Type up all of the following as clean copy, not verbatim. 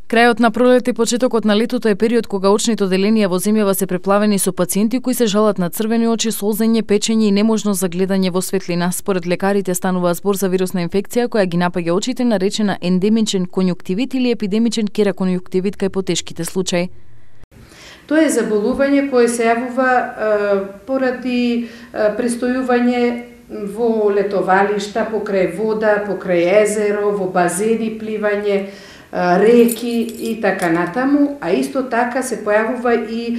Крајот на пролет и почетокот на летото е период кога очните оделенија во земјава се преплавени со пациенти кои се жалат на црвени очи, солзење, печење и неможност за гледање во светлина. Според лекарите станува збор за вирусна инфекција која ги напаѓа очите, наречена ендемичен конјуктивит или епидемичен кераконјуктивит кај потешките случаи. Тоа е заболување кое се јавува поради престојување во летовалишта, покрај вода, покрај езеро, во базени пливање, реки и така натаму, а исто така се појавува и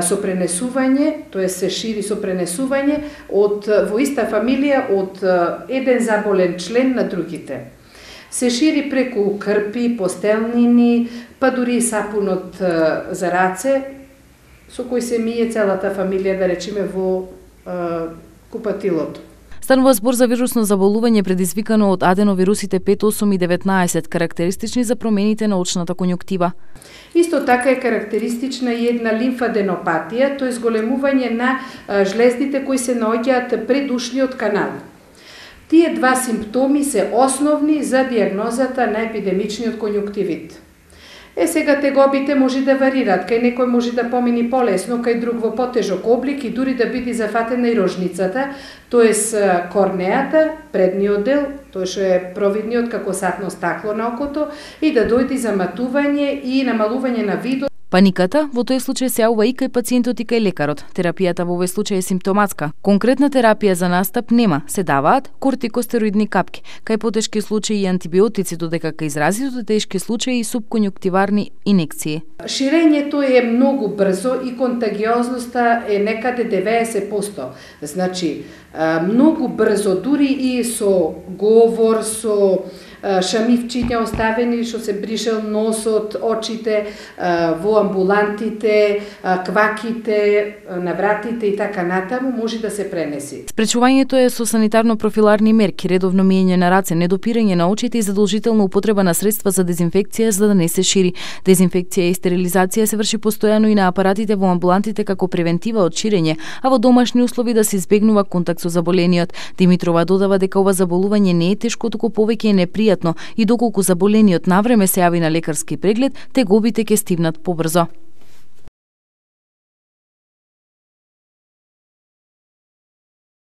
со пренесување, тоа се шири со пренесување во иста фамилија од еден заболен член на другите. Се шири преку крпи, постелнини, па дури и сапунот за раце, со кој се мие целата фамилија, да речеме, во купатилото. Станува збор за вирусно заболување предизвикано од аденовирусите 5, 8 и 19, карактеристични за промените на очната конјуктива. Исто така е карактеристична и една лимфаденопатија, тоа е зголемување на жлездите кои се наоѓаат пред ушниот канал. Тие два симптоми се основни за дијагнозата на епидемичниот конјуктивит. Сега тегобите може да варираат, кај некој може да помини полесно, кај друг во потежок облик и дури да биде зафатена и рожницата, тоест корнеата, предниот дел, тоа што е провидниот како сатно стакло на окото, и да дојде заматување и намалување на видот. Паниката во тој случај се јавува и кај пациентот и кај лекарот. Терапијата во овој случај е симптоматска. Конкретна терапија за настап нема, се даваат кортикостероидни капки. Кај потешки случаи и антибиотици, додека кај изразито тешки случаи и субконјуктиварни инекции. Ширењето е многу брзо и контагиозноста е некаде 90%. Значи, многу брзо, дури и со говор, со шамивчиња оставени, што се бришел носот, очите, во амбулантите, кваките, на вратите и така натаму, може да се пренеси. Спречувањето е со санитарно-профиларни мерки, редовно миење на раце, недопирање на очите и задолжителна употреба на средства за дезинфекција за да не се шири. Дезинфекција и стерилизација се врши постојано и на апаратите во амбулантите како превентива од ширење, а во домашни услови да се избегнува контакт со заболениот. Димитрова додава дека ова заболување не е тешко, туку повеќе е непријатно и доколку заболениот навреме се јави на лекарски преглед, тегобите ќе стивнат побрзо.